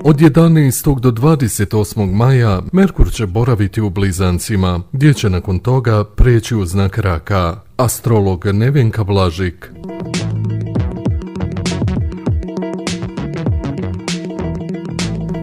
Od 11. do 28. maja Merkur će boraviti u Blizancima, gdje će nakon toga preći u znak Raka. Astrolog Nevenka Blažik.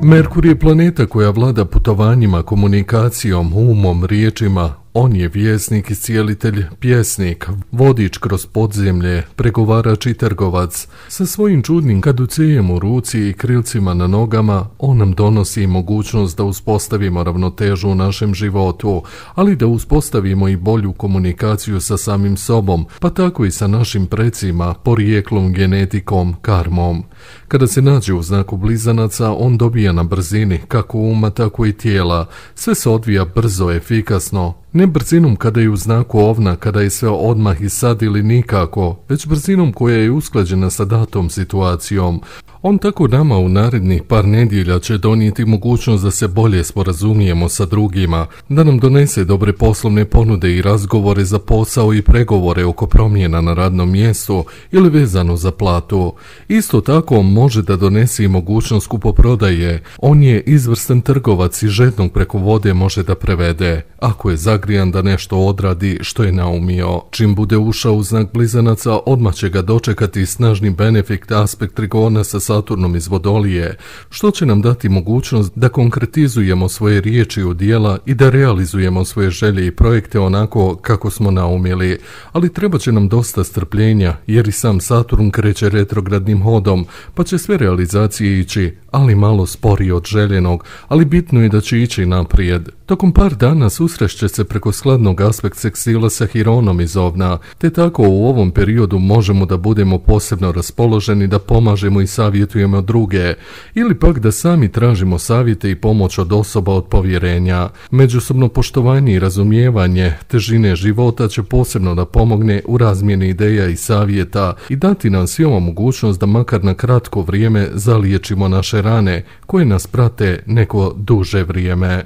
Merkur je planeta koja vlada putovanjima, komunikacijom, umom, riječima. On je vjesnik, iscijelitelj, pjesnik, vodič kroz podzemlje, pregovarač i trgovac. Sa svojim čudnim kaducejem u ruci i krilcima na nogama, on nam donosi mogućnost da uspostavimo ravnotežu u našem životu, ali da uspostavimo i bolju komunikaciju sa samim sobom, pa tako i sa našim precima, porijeklom, genetikom, karmom. Kada se nađe u znaku Blizanaca, on dobija na brzini, kako uma, tako i tijela. Sve se odvija brzo, efikasno. Ne brzinom kada je u znaku Ovna, kada je sve odmah i sad ili nikako, već brzinom koja je usklađena sa datom situacijom. On tako nama u narednih par nedjelja će donijeti mogućnost da se bolje sporazumijemo sa drugima, da nam donese dobre poslovne ponude i razgovore za posao i pregovore oko promjena na radnom mjestu ili vezano za platu. Isto tako može da donese i mogućnost kupoprodaje. On je izvrstan trgovac i žednog preko vode može da prevede, ako je zagrijan da nešto odradi što je naumio. Čim bude ušao u znak Blizanaca, odmah će ga dočekati snažni benefit aspekt trigona sa Saturnom iz Vodolije, što će nam dati mogućnost da konkretizujemo svoje riječi u djela i da realizujemo svoje želje i projekte onako kako smo naumili. Ali treba će nam dosta strpljenja, jer i sam Saturn kreće retrogradnim hodom, pa će sve realizacije ići, ali malo sporije od željenog, ali bitno je da će ići naprijed. Tokom par dana susrešće se preko skladnog aspekt sekstila sa Hironom iz Ovna, te tako u ovom periodu možemo da budemo posebno raspoloženi da pomažemo i savjetujemo druge, ili pak da sami tražimo savjete i pomoć od osoba od povjerenja. Međusobno poštovanje i razumijevanje težine života će posebno da pomogne u razmjeni ideja i savjeta i dati nam svima mogućnost da makar na kratko vrijeme zaliječimo naše rane koje nas prate neko duže vrijeme.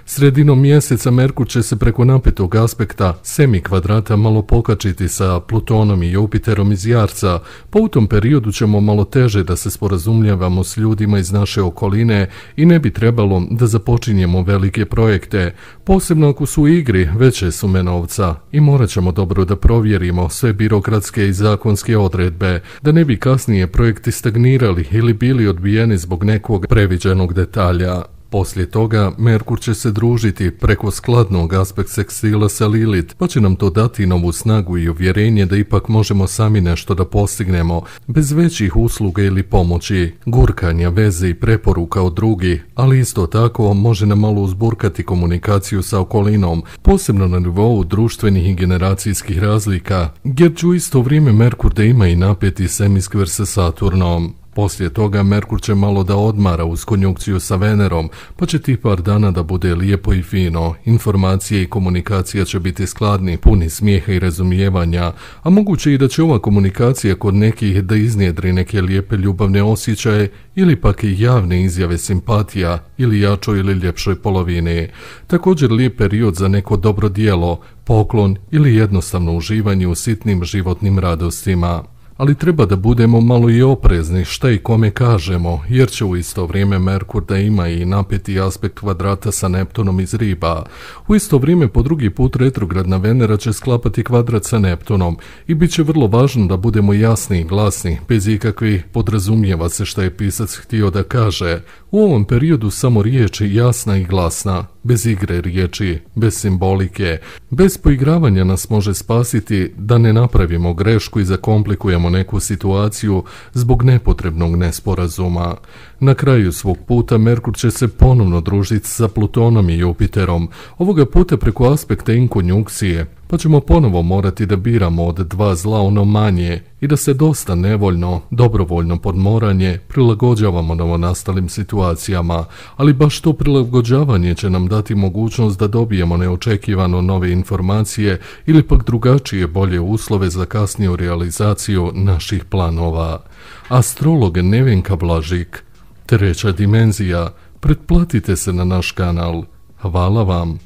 Sredinom mjeseca Merkur će se preko napetog aspekta semikvadrata malo pokačiti sa Plutonom i Jupiterom iz Jarca, pa u tom periodu ćemo malo teže da se sporazumljavamo s ljudima iz naše okoline i ne bi trebalo da započinjemo velike projekte, posebno ako su u igri veće sume novca, i morat ćemo dobro da provjerimo sve birokratske i zakonske odredbe, da ne bi kasnije projekti stagnirali ili bili odbijeni zbog nekog previđenog detalja. Poslije toga Merkur će se družiti preko skladnog aspekt sekstila sa Lilith, pa će nam to dati novu snagu i uvjerenje da ipak možemo sami nešto da postignemo, bez većih usluga ili pomoći, gurkanja, veze i preporuka od drugih, ali isto tako može nam malo uzburkati komunikaciju sa okolinom, posebno na nivou društvenih i generacijskih razlika, jer će u isto vrijeme Merkur da ima i napeti semiskver sa Saturnom. Poslije toga Merkur će malo da odmara uz konjunkciju sa Venerom, pa će tih par dana da bude lijepo i fino. Informacije i komunikacija će biti skladni, puni smijeha i razumijevanja, a moguće i da će ova komunikacija kod nekih da iznjedri neke lijepe ljubavne osjećaje ili pak i javne izjave simpatija ili jačoj ili ljepšoj polovini. Također lijep period za neko dobro djelo, poklon ili jednostavno uživanje u sitnim životnim radostima. Ali treba da budemo malo i oprezni šta i kome kažemo, jer će u isto vrijeme Merkur da ima i napeti aspekt kvadrata sa Neptunom iz Riba. U isto vrijeme po drugi put retrogradna Venera će sklapati kvadrat sa Neptunom i bit će vrlo važno da budemo jasni i glasni, bez ikakvih podrazumijeva se šta je pisac htio da kaže. U ovom periodu samo riječ je jasna i glasna, bez igre riječi, bez simbolike, bez poigravanja nas može spasiti da ne napravimo grešku i zakomplikujemo neku situaciju zbog nepotrebnog nesporazuma. Na kraju svog puta Merkur će se ponovno družiti sa Plutonom i Jupiterom, ovoga puta preko aspekta inkonjunkcije, pa ćemo ponovo morati da biramo od dva zla ono manje i da se dosta nevoljno, dobrovoljno podmoranje prilagođavamo novonastalim situacijama, ali baš to prilagođavanje će nam dati mogućnost da dobijemo neočekivano nove informacije ili pak drugačije bolje uslove za kasniju realizaciju naših planova. Astrolog Nevenka Blažik, treća dimenzija. Pretplatite se na naš kanal. Hvala vam.